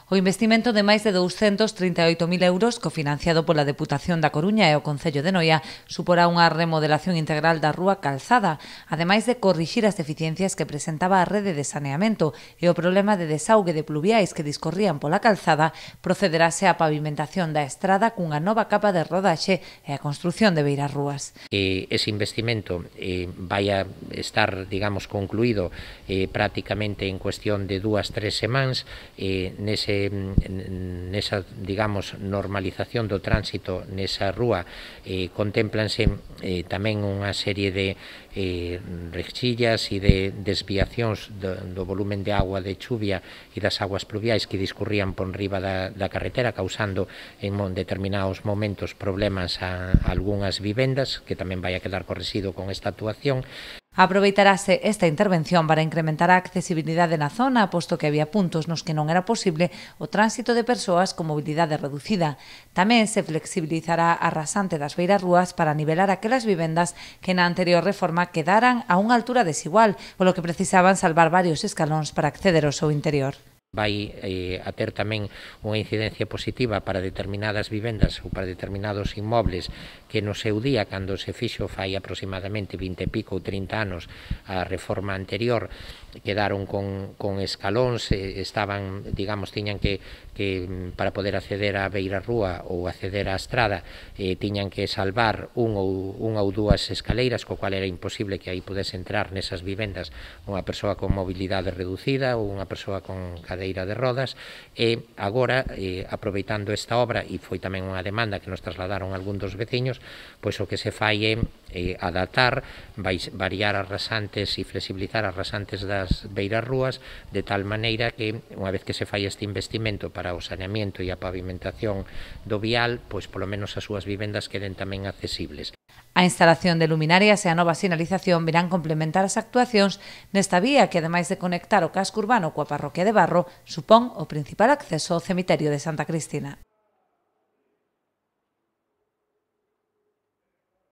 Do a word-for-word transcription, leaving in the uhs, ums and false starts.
O investimento de máis de douscentos trinta e oito mil euros, cofinanciado pola Deputación da Coruña e o Concello de Noia, suporá unha remodelación integral da rúa Calzada, ademais de corrixir as deficiencias que presentaba a rede de saneamento e o problema de desaugue de pluviais que discorrían pola calzada, procederase á pavimentación da estrada cunha nova capa de rodaxe e a construción de beirarrúas. Eh, ese investimento eh, vai a estar, digamos, concluído eh, prácticamente en cuestión de dúas, tres semanas. Eh, nese nesa, digamos, normalización do tránsito nesa rúa eh, contémplanse eh, tamén unha serie de eh, rexillas e de desviacións do, do volumen de agua de chuvia e das aguas pluviais que discurrían por riba da, da carretera, causando en determinados momentos problemas a, a algunhas vivendas, que tamén vai a quedar correxido con esta actuación. Aproveitarase esta intervención para incrementar a accesibilidade na zona, posto que había puntos nos que non era posible o tránsito de persoas con mobilidade reducida. Tamén se flexibilizará a rasante das beirarrúas para nivelar aquelas vivendas que na anterior reforma quedaran a unha altura desigual, polo que precisaban salvar varios escalóns para acceder ao seu interior. Vai eh, a ter tamén unha incidencia positiva para determinadas vivendas ou para determinados inmobles que no seu día, cando se fixo fai aproximadamente vinte e pico ou trinta anos a reforma anterior, quedaron con, con escalóns, eh, estaban, digamos, tiñan que, que para poder acceder á beirarrúa ou acceder á estrada, eh, tiñan que salvar un ou, unha ou dúas escaleiras, co cual era imposible que aí pudese entrar nesas vivendas unha persoa con mobilidade reducida ou unha persoa con cadeira de rodas. E agora, eh, aproveitando esta obra, e foi tamén unha demanda que nos trasladaron algún dos veciños, pois o que se fai é eh, adaptar, vai variar as rasantes e flexibilizar as rasantes das beirarrúas de tal maneira que, unha vez que se fai este investimento para o saneamento e a pavimentación do vial, pois polo menos as súas vivendas queden tamén accesibles. A instalación de luminarias e a nova sinalización virán complementar as actuacións nesta vía que, ademais de conectar o casco urbano coa parroquia de Barro, supón o principal acceso ao cemiterio de Santa Cristina.